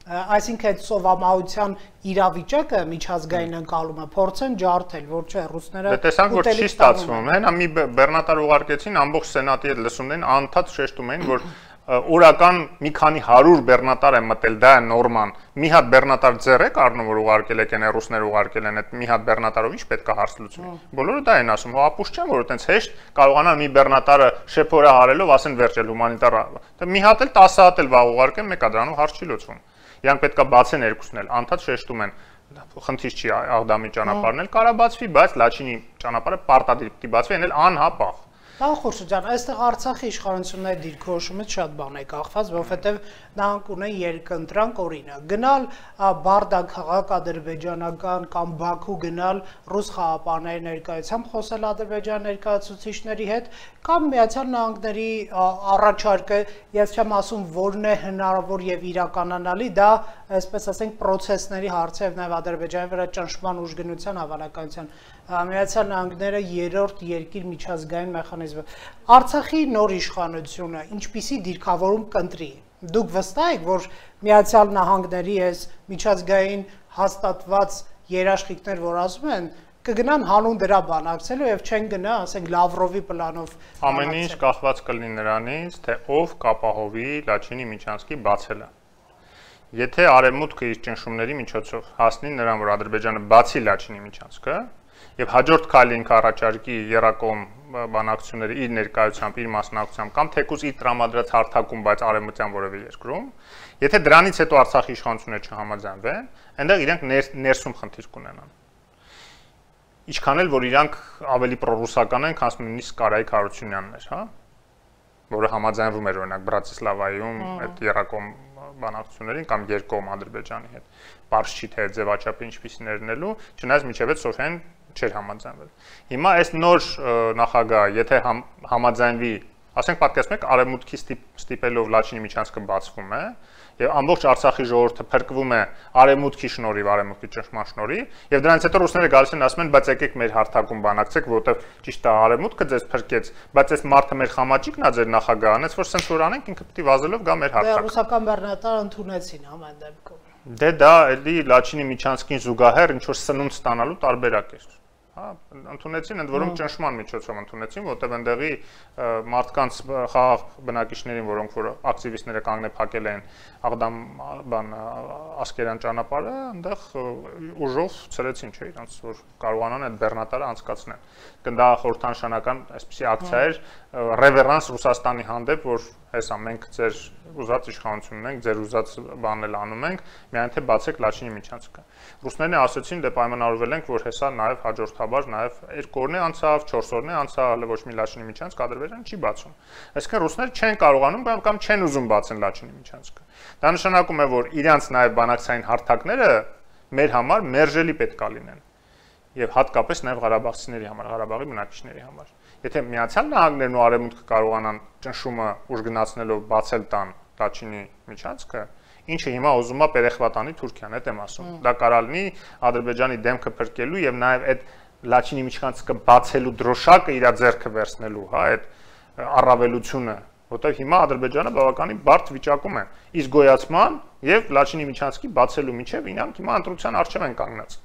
Այսինքն այդ սովամահության իրավիճակը միջազգային ընկալումը փորձեն ջարդել, որ չէ ռուսները տեսանք որ չի ստացվում, հենա մի բեռնատար ուղարկեցին ամբողջ սենատի հետ լսումներին անդադ շեշտում էին, որ օրական մի քանի հարյուր բեռնատար են մտել, դա է նորման։ Մի հատ բեռնատար ձեռ եք առնում, որ ուղարկել եք, այն ռուսները ուղարկել են, այդ մի հատ բեռնատարով ինչ պետք է հարց լուծվի։ Բոլորը դա են ասում, հա ապուշ չեմ, որ այտենց հեշտ կարողանան մի բեռնատարը շեփորը հարելով ասեն վերջել հումանիտար։ Դա մի հատ էլ տասը հատ էլ վաղ ուղարկեն, մեկա դրանով հարց չի լուծվում։ Իրանք պետք է բացեն երկուսն էլ, անդադ շեշտում են, խնդիր չի Աղդամի ճանապարհն էլ կարա բացվի, բայց Լաչինի ճանապարհը պարտադիր պետք է բացվի, այն էլ անհապաղ։ Տանխորշ ջան, այստեղ Արցախի իշխանությունների դիրքորոշումից շատ բան է կախված, որովհետև նրանք ունեն երկընտրանք օրինակ, գնալ Բարդակ քաղաք ադրբեջանական կամ Բաքու գնալ ռուս խաղապանների ներկայությամբ խոսել ադրբեջան ներկայացուցիչների հետ, կամ Միացյալ Նահանգների առաջարկը, ես չեմ ասում որն է հնարավոր եւ իրականանալի, դա այսպես ասենք պրոցեսների հարց է եւ նաեւ Ադրբեջանի վրա ճնշման ուժգնության հավանականության Միացյալ Նահանգները երրորդ երկիր միջազգային մեխանիզմը։ Արցախի նոր իշխանությունը ինչպիսի դիրքավորում կընտրի։ Դուք վստահ եք, որ Միացյալ Նահանգների այս միջազգային հաստատված երաշխիքներ, որ ասում են, կգնան հանուն դրա բանակցելու եւ չեն գնա, ասենք Լավրովի պլանով։ Ամեն ինչ կախված կլինի նրանից, թե ով կապահովի Լաչինի միջանցքի բացելը։ Եթե Արևմուտքը իր ճնշումների միջոցով հասնի նրան, որ Ադրբեջանը բացի Լաչինի միջանցքը եւ հաջորդ քայլը ինքը առաջարկի երակոմ բանակցությունների իր ներկայությամբ, իր մասնակցությամբ կամ թեկուզ իր տրամադրած հարթակում, բայց արևմտյան որևէ երկրում, եթե դրանից հետո Արցախի իշխանությունները չհամաձայնվեն, այնտեղ իրենք ներսում խնդիր կունենան։ Ինչքան էլ որ իրանք ավելի պրոռուսական են, քան նույնիսկ Կարայիկ Հարությունյանն էր, հա, որը համաձայնվում էր օրինակ Բրատիսլավայում այդ երակոմ բանակցություններին կամ երկկողմ Ադրբեջանի հետ։ Պարզ չի թե ձևաչափը ինչպիսին էր լինելու, չնայած միջև այդ Սոֆիան չէր համաձայնվել։ Հիմա այս նոր նախագահը, եթե համաձայնվի, ասենք պատկերացնեք Արևմուտքի ստիպելով Լաչինի միջանցքը բացվում է, եւ ամբողջ Արցախի ժողովուրդը փրկվում է Արևմուտքի շնորհիվ, Արևմուտքի ճնշման շնորհիվ, եւ դրանից հետո ռուսները գալիս են ասում են, բայց եկեք մեր հարթակում բանակցեք, որովհետեւ ճիշտ է Արևմուտքը ձեզ փրկեց, բայց այս մարդը մեր խամաճիկն է ձեր նախագահն, այս որ սենց որ անենք ինքը պետք է վազելով գա մեր հարթակ։ Դե ռուսական բեռնատարը ընդունեցին ամեն դեպքում։ Դե դա էլի Լաչինի միջանցքին զուգահեռ ինչ որ սնունդ ստանալու տարբերակ էր։ Հա, ընդունեցին, ընդ որում ճնշման միջոցով ընդունեցին, որտեղ այնտեղի մարդկանց խաղաղ բնակիչներին, որոնք որ ակտիվիստները կանգնե փակել են Աղդամ բան Ասկերան ճանապարհը, այնտեղ ուժով ցրեցին, չէ, իրանց որ կարողանան այդ բեռնատարը անցկացնել։ Դա խորհրդանշանական այսպիսի ակցիա էր, ռևերանս Ռուսաստանի հանդեպ, որ հեսա մենք ձեր ուզած իշխանություն ունենք, ձեր ուզած բանն էլ անում ենք, միայն թե բացեք Լաչինի միջանցքը։ Ռուսներն ասացին, դե պայմանավորվել ենք, որ հեսա նաև հաջորդաբար նաև երկու օրն է անցավ, չորս օրն է անցավ, հələ ոչ մի Լաչինի միջանցք Ադրբեջանը չի բացում։ Այսինքն ռուսները չեն կարողանում կամ կամ չեն ուզում բացեն Լաչինի միջանցքը։ Դա նշանակում է, որ իրանց նաև բանակցային հարթակները մեր համար մերժելի պետք է լինեն։ Եվ հատկապես նաև Ղարաբաղցիների համար, Ղարաբաղի բնակիչների համար։ Եթե Միացյալ Նահանգներն ու Արևմուտքը կարողանան ճնշումը ուժգնացնելով բացել տան Լաչինի միջանցքը, ինչը հիմա ուզում է Պերեխվատանի Թուրքիան, այդ եմ ասում։ Դա կարա լինի Ադրբեջանի դեմքը փրկելու եւ նաեւ այդ Լաչինի միջանցքը բացելու դրոշակը իր ձեռքը վերցնելու, հա, այդ առավելությունը, որտեղ հիմա Ադրբեջանը բավականին բարդ վիճակում է իսկ գոյացման եւ Լաչինի միջանցքի բացելու միջև իրանք հիմա ընտրության առջեւ են կանգնած։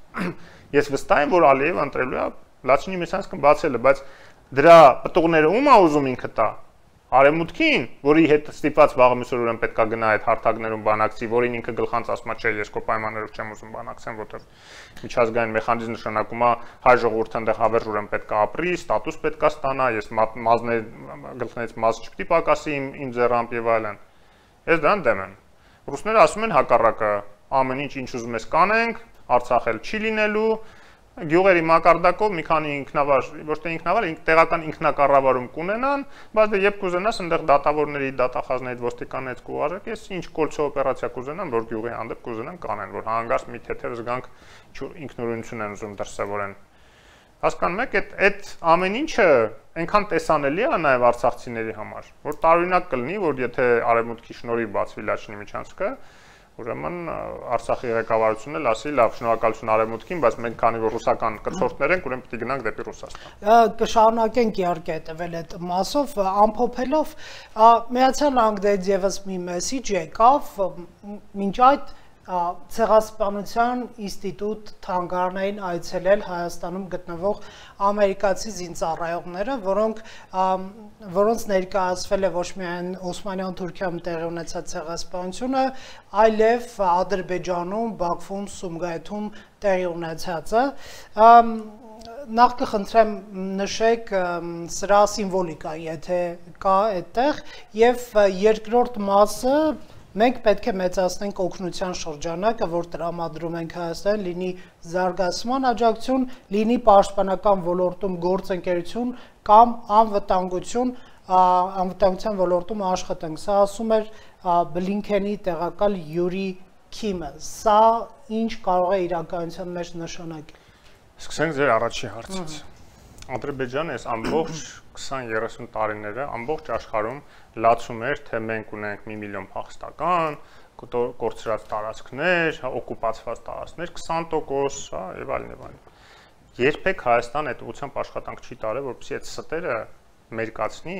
Ես վստահ եմ, որ Ալիևը ընտրելու է Լաչինի միջանցքը բացելը, բայց դրա պտուղները ում է ուզում ինքը տա։ Արևմուտքին, որի հետ ստիպված վաղամիսօր ուրեմն պետքա գնա այդ հարթակներում բանակցի, որին ինքը գլխանց ասում է, չէ, ես քո պայմաններով չեմ ուզում բանակցեմ, որտեղ միջազգային մեխանիզմ նշանակում է հայ ժողովուրդը այնտեղ հավերժ ուրեմն պետքա ապրի, ստատուս պետքա ստանա, ես մազներ գլխներից մազ չպետք է պակասի իմ իմ ձեռամբ եւ այլն։ Ես դրան դեմ եմ։ Ռուսները ասում են հակառակը, ամեն ինչ ինչ ուզում ես կանենք, Արցախ էլ չի լինելու, գյուղերի մակարդակով մի քանի ինքնավար, ոչ թե ինքնավար, տեղական ինքնակառավարում կունենան, բայց դե երբ կուզենաս այնտեղ դատավորների, դատախազների, ոստիկաններից կուղարկես, ինչ կոլցո օպերացիա կուզենան, որ գյուղի հանդեպ կուզենան կանեն, որ հանգարց մի թեթև զգանք ինքնուրույնություն են ուզում դրսևորեն։ Հասկանում եք, այդ այդ ամեն ինչը այնքան տեսանելի է նաև արցախցիների համար, որ տարօրինակ կլինի, որ եթե Արևմուտքի շնորհիվ բացվի Լաչինի միջանցքը, ուրեմն Արցախի ղեկավարությունն էլ ասի, լավ, շնորհակալություն Արևմուտքին, բայց մենք քանի որ ռուսական կցորդներ ենք, ուրեմն պետք է գնանք դեպի Ռուսաստան։ Կշարունակենք իհարկե հետևել այդ մասով, ամփոփելով, Միացյալ Նահանգներից եւս մի մեսիջ եկավ, մինչ այդ Ցեղասպանության ինստիտուտ թանգարանային այցելել Հայաստանում գտնվող ամերիկացի զինծառայողները, որոնք որոնց ներկայացվել է ոչ միայն Օսմանյան Թուրքիայում տեղի ունեցած ցեղասպանությունը, այլև Ադրբեջանում, Բաքվում, Սումգայիթում տեղի ունեցածը։ Նախ կխնդրեմ նշեք սրա սիմվոլիկան, եթե կա այդտեղ, եւ երկրորդ մասը մենք պետք է մեծացնենք օգնության շրջանակը, որ տրամադրում ենք Հայաստան, լինի զարգացման աջակցություն, լինի պաշտպանական ոլորտում գործընկերություն կամ անվտանգություն, անվտանգության ոլորտում աշխատենք։ Սա ասում էր Բլինքենի տեղակալ Յուրի Քիմը։ Սա ինչ կարող է իրականության մեջ նշանակել։ Սկսենք ձեր առաջի հարցից։ Ադրբեջանը այս ամբողջ քսան երեսուն տարիները ամբողջ աշխարհում լացում էր, թե մենք ունենք մի միլիոն փախստական, կորցրած տարածքներ, օկուպացված տարածքներ, քսան տոկոս, հա, եւ այլն եւ այլն։ Երբեք Հայաստան այդ ուղղությամբ աշխատանք չի տարել, որպեսզի այդ ստերը մերկացնի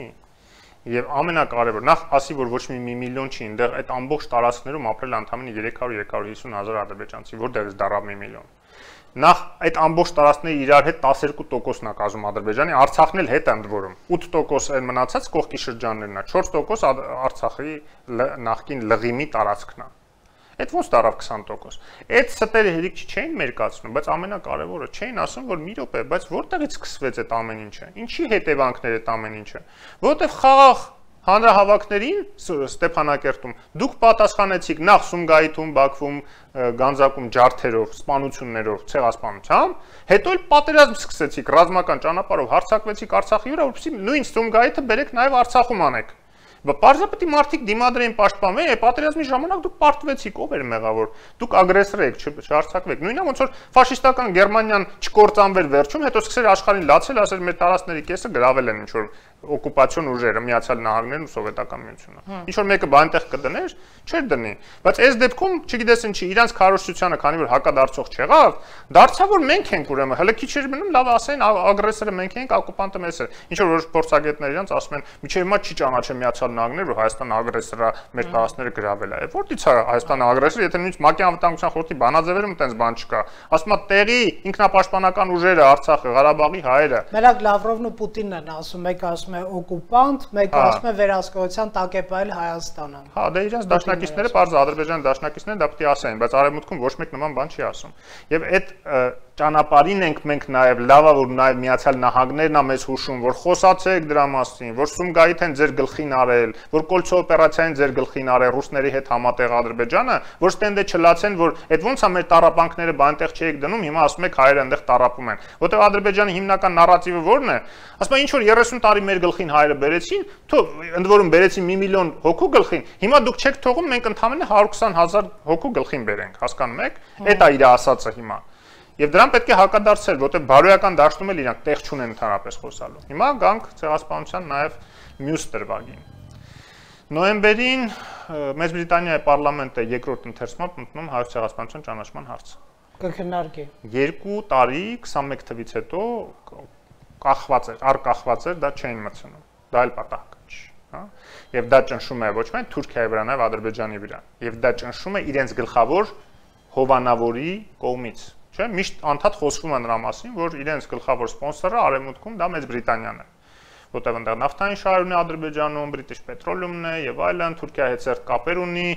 Եվ ամենակարևոր, նախ ասի, որ ոչ մի միլիոն չի, այնտեղ այդ ամբողջ տարածքներում ապրել ընդամենը երեք հարյուր երեք հիսուն հազար ադրբեջանցի, որտեղից դառավ մի միլիոն։ Նախ այդ ամբողջ տարածքների իրար հետ տասներկու տոկոսն է կազմում Ադրբեջանի, Արցախն էլ հետ է ընդ որում։ ութ տոկոս այն մնացած կողքի շրջաններն է, չորս տոկոս Արցախի նախկին լղիմի տարածքն է։ Այդ ոնց դարավ քսան տոկոս։ Այդ ստերը հերիք չէին մերկացնում, բայց ամենակարևորը չէին ասում, որ մի րոպե, բայց որտեղից սկսվեց այդ ամեն ինչը։ Ինչի հետևանքներ այդ ամեն ինչը։ Որտեվ խաղաղ հանրահավաքներին Ստեփանակերտում դուք պատասխանեցիք նախ Սումգայիթում, Բաքվում, Գանձակում ջարդերով, սպանություններով, ցեղասպանությամբ, հետո էլ պատերազմ սկսեցիք ռազմական ճանապարհով հարձակվեցիք Արցախի վրա, որովհետեւ նույն Սումգայիթը բերեք նաև Արցախում անեք։ Պարզապես մարդիկ դիմադրեին պաշտպանվել, է պատերազմի ժամանակ դուք պարտվեցիք, ով էր մեղավոր։ Դուք ագրեսոր եք, չհարցակվեք։ Նույնը ոնց որ ֆաշիստական Գերմանիան չկործանվեր վերջում, հետո սկսեր աշխարհին լացել, ասել մեր տարածքների կեսը գրավել են ինչ որ օկուպացիոն ուժերը, Միացյալ Նահանգներն ու Սովետական Միությունը։ Ինչ որ մեկը բանտեղ կդներ, չէր դնի։ Բայց այս դեպքում, չգիտես ինչի, իրանց քարոզչությանը, քանի որ հակադարձող չեղավ, դարձավ որ մենք ենք ուրեմն, հələ քիչ էր մնում, լավ ասեն, ագրեսորը մենք ենք, օկուպանտը մեզ է։ Ինչ որ որոշ փորձագետներ իրանց ասում են, միջև հիմա չի ճանաչել Միացյալ Նահանգները, որ Հայաստանը ագրեսոր է, մեր տարածքները գրավել է։ Որտից է Հայաստանը ագրեսոր, եթե նույնիսկ ՄԱԿ-ի անվտանգության խորհրդի բանաձևերում այդպես բան չկա։ Ասում է տեղի ինքնապաշտպանական ուժերը, Արցախը, Ղարաբաղի հայերը։ Մենակ Լավրովն ու Պուտինն են ասում, մեկը ասում է օկուպանտ, մեկը ասում է վերահսկողության տակ է պահել Հայաստանը։ Հա, դե իրենց դաշնակիցները, բարձ Ադրբեջանի դաշնակիցները դա պետք է ասեն, բայց Արևմուտքում ոչ մեկ նման բան չի ասում։ Եվ այդ ճանապարհին ենք մենք նաև լավա որ նաև Միացյալ Նահանգներն է մեզ հուշում, որ խոսացեք դրա մասին, որ Սումգայիթ են ձեր գլխին արել, որ Կոլցո օպերացիան ձեր գլխին արել ռուսների հետ համատեղ Ադրբեջանը, որ ստենդը չլացեն, որ այդ ոնց է մեր տառապանքները բանտեղ չեք դնում, հիմա ասում եք հայերը այնտեղ տառապում են։ Որտեղ Ադրբեջանի հիմնական նարատիվը ո՞րն է։ Ասում են ինչ որ երեսուն տարի մեր գլխին հայերը բերեցին, թող ընդ որում բերեցին մի միլիոն հոգու գլխին, հիմա դուք չեք թողում մենք ընդամենը հարյուր քսան հազար հոգու գլխին բերենք, հասկանում եք։ Այդ է իր ասածը հիմա։ Եվ դրան պետք է հակադարձել, որտեղ բարոյական դաշտում էլ իրանք տեղ չունեն ընդհանրապես խոսալու։ Հիմա գանք ցեղասպանության նաև մյուս դրվագին։ Նոյեմբերին Մեծ Բրիտանիայի պարլամենտը երկրորդ ընթերցմամբ ընդունում հայոց ցեղասպանության ճանաչման հարցը։ Կքննարկի։ Երկու տարի քսանմեկ թվից հետո կախված էր, արկախված էր, դա չէին մտցնում։ Դա էլ պատահական չի, հա։ Եվ դա ճնշում է ոչ միայն Թուրքիայի վրա, նաև Ադրբեջանի վրա։ Եվ դա ճնշում է իրենց գլխավոր հովանավորի կողմից։ Չէ, միշտ անդադ խոսվում է նրա մասին, որ իրենց գլխավոր սպոնսորը Արևմուտքում դա Մեծ Բրիտանիան է, որտեղ այնտեղ նավթային շահեր ունի Ադրբեջանում, British Petroleum-ն է եւ այլն, Թուրքիայի հետ ծերտ կապեր ունի,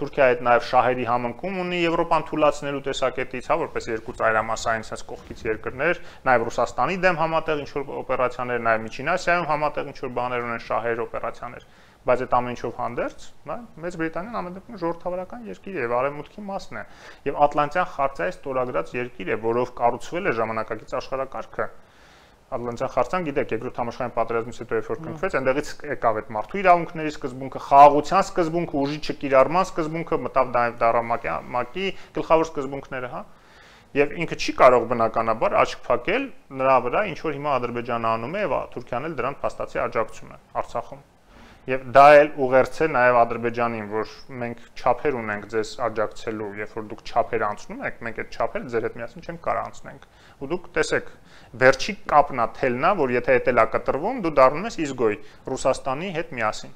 Թուրքիայի հետ նաեւ շահերի համընկում ունի Եվրոպան թույլատնելու տեսակետից, հա, որպես երկու ծայրամասային sense կողքից երկրներ, նաեւ Ռուսաստանի դեմ համատեղ ինչ որ օպերացիաներ, նաեւ Միջին Ասիայում համատեղ ինչ որ բաներ ունեն շահեր օպերացիաներ։ Բայց այդ ամեն ինչով հանդերձ, հա, Մեծ Բրիտանիան ամեն դեպքում ժողովրդավարական երկիր է եւ արևմուտքի մասն է եւ Ատլանտյան խարտիայի ստորագրած երկիր է, որով կառուցվել է ժամանակակից աշխարհակարգը։ Ատլանտյան խարտիան, գիտեք, երկրորդ համաշխարհային պատերազմից հետո երբ որ կնքվեց, այնտեղից եկավ այդ մարդու իրավունքների սկզբունքը, խաղաղության սկզբունքը, ուժի չկիրառման սկզբունքը, մտավ նաեւ ՄԱԿ-ի գլխավոր սկզբունքները, հա։ Եվ ինքը չի կարող բնականաբար աչք փակել նրա վրա, ինչ որ հիմա Ադրբեջանը անում է եւ Թուրքիան էլ դրան փաստացի աջակցում է Արցախում։ Եվ դա էլ ուղերձ է նաև Ադրբեջանին, որ մենք չափեր ունենք ձեզ աջակցելու, երբ որ դուք չափեր անցնում եք, մենք այդ չափերը ձեր հետ միասին չենք կարող անցնենք։ Ու դուք տեսեք, վերջի կապն է, թելն է, որ եթե դա է կտրվում, դու դառնում ես իզգոյ Ռուսաստանի հետ միասին։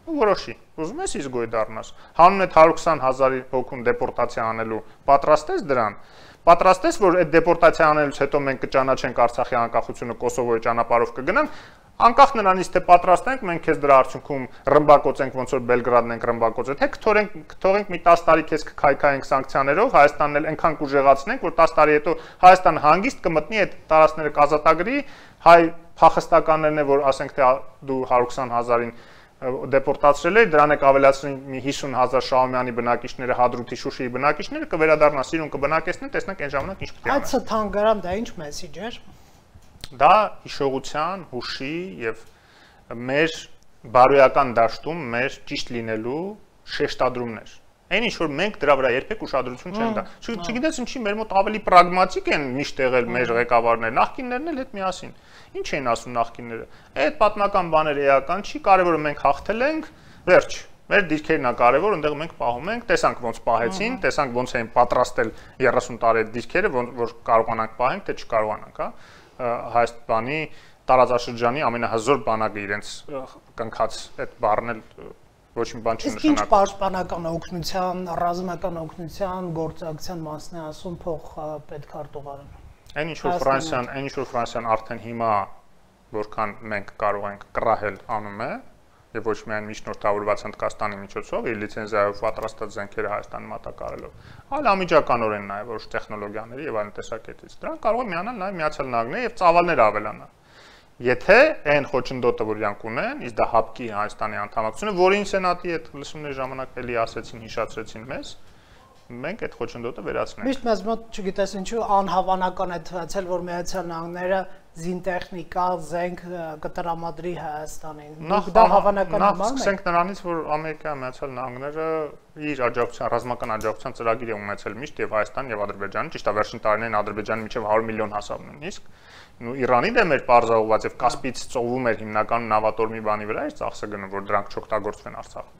Ու որոշի, ուզում ես իզգոյ դառնաս։ Հանուն այդ հարյուր քսան հազարի հոգուն դեպորտացիա անելու, պատրաստ ես դրան։ Պատրաստ ես, որ այդ դեպորտացիա անելուց հետո մենք կճանաչենք Արցախի անկախությունը Կոսովոյի ճանապարհով կգնանք, անկախ նրանից թե պատրաստ ենք, մենք քեզ դրա արդյունքում ռմբակոծենք, ոնց որ Բելգրադն ենք ռմբակոծել, թե կթողենք, կթողենք մի տասը տարի քեզ կքայքայենք սանկցիաներով, Հայաստանն էլ այնքան կուժեղացնենք, որ տասը տարի հետո Հայաստանը հանգիստ կմտնի այդ տարածքները կազատագրի, հայ փախստականներն է, որ ասենք թե դու հարյուր քսան հազարին դեպորտացրել էր, դրան եք ավելացրին մի հիսուն հազար Շահումյանի բնակիչները, Հադրութի, Շուշիի բնակիչները կվերադառնա Սիրուն կբնակեցնեն, տեսնենք այն ժամանակ ինչ պետք է անեն։ Այդ թանգարան դա ինչ մեսիջ էր։ Դա հիշողության, հուշի եւ մեր բարոյական դաշտում մեր ճիշտ լինելու շեշտադրումներ։ Այն ինչ որ մենք դրա վրա երբեք ուշադրություն չենք տա։ Չգիտես ինչի մեր մոտ ավելի պրագմատիկ են միշտ եղել մեր ղեկավարները, նախկիններն էլ հետ միասին։ Ինչ էին ասում նախկինները։ Այդ պատմական բաները էական չի, կարևորը մենք հաղթել ենք, վերջ։ Մեր դիրքերն է կարևոր, այնտեղ մենք պահում ենք, տեսանք ոնց պահեցին, տեսանք ոնց էին պատրաստել երեսուն տարի այդ դիրքերը, որ կարողանանք պահենք, թե չկարողանանք, հա։ Հայաստանի տարածաշրջանի ամենահզոր բանակը իրենց կնքած այդ բառն էլ ոչ մի բան չի նշանակում։ Իսկ ինչ պաշտպանական օգնության, ռազմական օգնության գործակցության մասն է ասում փող պետքարտուղարը։ Այն ինչ որ Ֆրանսիան, այն ինչ որ Ֆրանսիան արդեն հիմա որքան մենք կարող ենք կռահել անում է, եւ ոչ միայն միջնորդավորված Հնդկաստանի միջոցով իր լիցենզիայով պատրաստած զենքերը Հայաստանի մատակարարելով, այլ անմիջականորեն նաեւ ոչ տեխնոլոգիաների եւ այլ տեսակետից։ Դրանք կարող է միանալ նաեւ Միացյալ Նահանգները եւ ծավալները ավելանա։ Եթե այն խոչընդոտը, որ իրանք ունեն, իսկ դա հապկի Հայաստանի անդամակցությունը, որին Սենատի այդ լսումների ժամանակ էլի ասեցին, հիշացրեցին մեզ, մենք այդ խոչընդոտը վերացնենք։ Միշտ մեզ մոտ, չգիտես ինչու, անհավանական է թվացել, որ Միացյալ Նահանգները զինտեխնիկա, զենք կտրամադրի Հայաստանին։ Դա հավանական է։ Սկսենք նրանից, որ Ամերիկայի Միացյալ Նահանգները իր աջակցության, ռազմական աջակցության ծրագիր է ունեցել միշտ եւ Հայաստան եւ Ադրբեջանը, ճիշտ է, վերջին տարիներին Ադրբեջանը մինչեւ հարյուր միլիոն հասավ նույնիսկ։ Ու Իրանի դեմ էր պարզահողված եւ Կասպից ծովում էր հիմնականում նավատորմի բանի վրա էր ծախսը գնում, որ դրանք չօգտագործվեն Արցախում։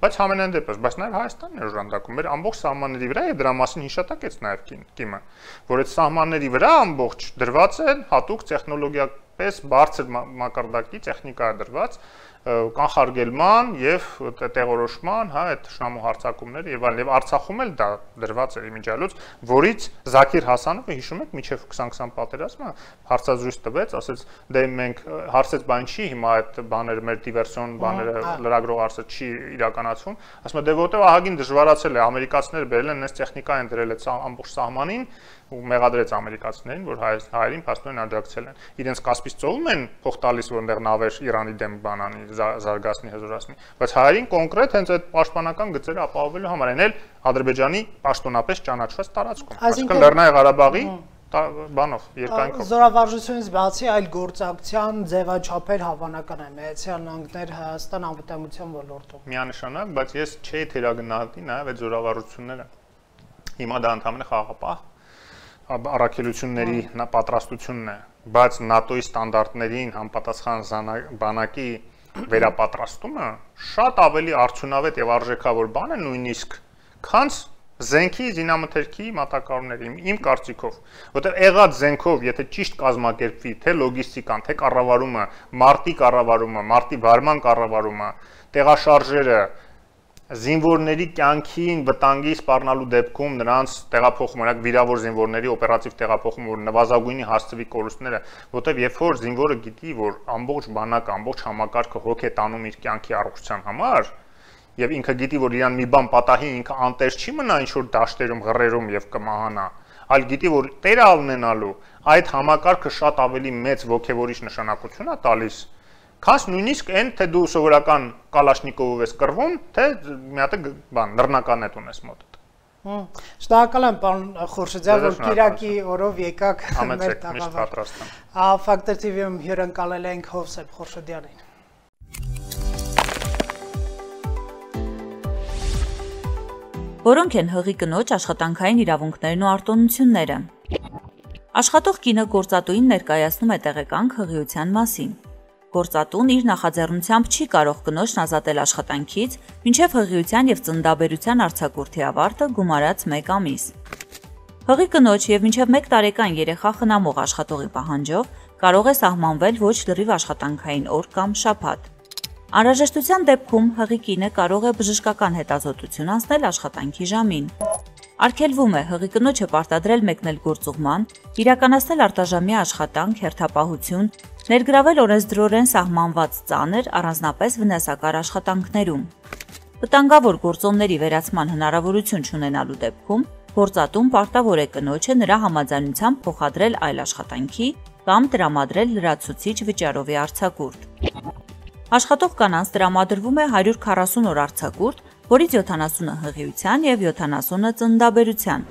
Բայց համենայն դեպս, բայց նաեւ Հայաստանն է օժանդակում մեր ամբողջ սահմանների վրա եւ դրա մասին հիշատակեց նաեւ կիմը, որ այդ սահմանների վրա ամբողջ դրված են հատուկ տեխնոլոգիապես բարձր մակարդակի տեխնիկա է դրված կանխարգելման եւ տեղորոշման, հա, այդ շնամու հարձակումները եւ այլն, եւ Արցախում էլ դա դրված էր իմիջիալուց, որից Զաքիր Հասանովը հիշում եք, միջև քսան քսան պատերազմը հարցազրույց տվեց, ասեց, դե մենք հարցեց, բան չի, հիմա այդ բաները մեր դիվերսիոն բաները լրագրող հարցը չի իրականացվում, ասում է, դե որտեւ ահագին դժվարացել է, ամերիկացիները բերել են այս տեխնիկային դրել այդ ամբողջ սահմանին ու մեղադրեց ամերիկացիներին, որ հայերին փաստորեն աջակցել են։ Իրենց Կասպից ծովում են փող տալիս, որտեղ նավեր Իրանի դեմ բանանի, զարգացնի, հզորացնի, բայց հայերին կոնկրետ հենց այդ պաշտպանական գծերը ապահովելու համար են էլ Ադրբեջանի պաշտոնապես ճանաչված տարածքում, այսինքն Լեռնային Ղարաբաղի բանով, երկայնքով։ Զորավարժությունից բացի այլ գործակցության ձևաչափեր հավանական է Միացյալ Նահանգներ Հայաստան անվտանգության ոլորտում։ Միանշանակ, բայց ես չէի թերագնահատի նաև այդ զորավարժությունները։ Հիմա դա ընդհանրապես խաղաղապահ առաքելությունների պատրաստությունն է, բայց ՆԱՏՕ-ի ստանդարտներին համապատասխան բանակի վերապատրաստումը շատ ավելի արդյունավետ եւ արժեքավոր բան է նույնիսկ, քան զենքի զինամթերքի մատակարարների, իմ կարծիքով, որտեղ եղած զենքով, եթե ճիշտ կազմակերպվի, թե լոգիստիկան, թե կառավարումը, մարտի կառավարումը, մարտի վարման կառավարումը, տեղաշարժերը, զինվորների կյանքին վտանգի սպառնալու դեպքում նրանց տեղափոխում, օրինակ վիրավոր զինվորների օպերատիվ տեղափոխում, որ նվազագույնի հասցվի կորուստները, որտեղ երբ որ զինվորը գիտի, որ ամբողջ բանակը, ամբողջ համակարգը հոգ է տանում իր կյանքի առողջության համար, եւ ինքը գիտի, որ իրան մի բան պատահի, ինքը անտեր չի մնա ինչ որ դաշտերում, ղռերում եւ կմահանա, այլ գիտի, որ տերը ունենալու այդ համակարգը շատ ավելի մեծ ոգևորիչ նշանակություն է տալիս, քան նույնիսկ այն, թե դու սովորական կալաշնիկովով ես կռվում, թե մի հատ բան նռնականետ ունես մոտդ։ Շնորհակալ եմ, պարոն Խորշիդյան, որ Կիրակի օրով եկաք մեր տաղավար։ Ֆակտոր թի վի-ում հյուրընկալել ենք Հովսեփ Խորշիդյանին։ Որոնք են հղի կնոջ աշխատանքային իրավունքներն ու արտոնությունները։ Աշխատող կինը գործատուին ներկայացնում է տեղեկանք հղիության մասին։ Գործատուն իր նախաձեռնությամբ չի կարող կնոջն ազատել աշխատանքից, մինչև հղիության եւ ծննդաբերության արձակուրդի ավարտը գումարած մեկ ամիս։ Հղի կնոջ եւ մինչև մեկ տարեկան երեխա խնամող աշխատողի պահանջով կարող է սահմանվել ոչ լրիվ աշխատանքային օր կամ շաբաթ։ Անհրաժեշտության դեպքում հղի կինը կարող է բժշկական հետազոտություն անցնել աշխատանքի ժամին։ Արգելվում է հղի կնոջը պարտադրել մեկնել գործուղման, իրականացնել արտաժամյա աշխատանք, հերթապահություն, ներգրավել օրենսդրորեն սահմանված ծանր, առանձնապես վնասակար աշխատանքներում։ Վտանգավոր գործոնների վերացման հնարավորություն չունենալու դեպքում գործատուն պարտավոր է կնոջը նրա համաձայնությամբ փոխադրել այլ աշխատանքի կամ տրամադրել լրացուցիչ վճարովի արձակուրդ։ Աշխատող կանանց տրամադրվում է հարյուր քառասուն օր արձակուրդ, որից յոթանասունը հղիության եւ յոթանասունը ծննդաբերության։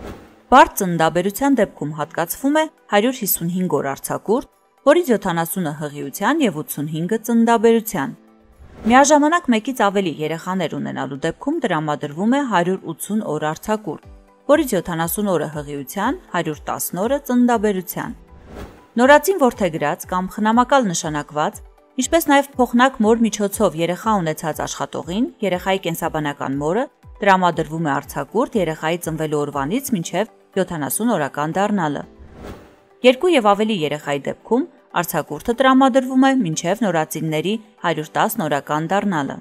Բարդ ծննդաբերության դեպքում հատկացվում է հարյուր հիսունհինգ օր արձակուրդ, որից յոթանասունը հղիության եւ ութսունհինգը ծննդաբերության։ Միաժամանակ մեկից ավելի երեխաներ ունենալու դեպքում տրամադրվում է հարյուր ութսուն օր արձակուրդ, որից յոթանասուն օրը հղիության, հարյուր տասն օրը ծննդաբերության։ Նորածին որդեգրած կամ խնամակալ նշանակված, ինչպես նաև փոխնակ մոր միջոցով երեխա ունեցած աշխատողին, երեխայի կենսաբանական մորը տրամադրվում է արձակուրդ երեխայի ծնվելու օրվանից մինչև յոթանասուն օրական դառնալը։ Երկու եւ ավելի երեխայի դեպքում Արձակուրդը տրամադրվում է մինչև նորածինների հարյուր տասը օրական դառնալը։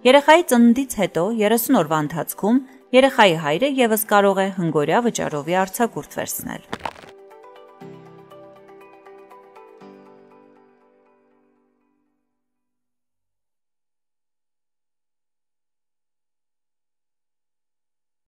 Երեխայի ծննդից հետո երեսուն օրվա ընթացքում երեխայի հայրը ևս կարող է հնգօրյա վճարովի արձակուրդ վերցնել։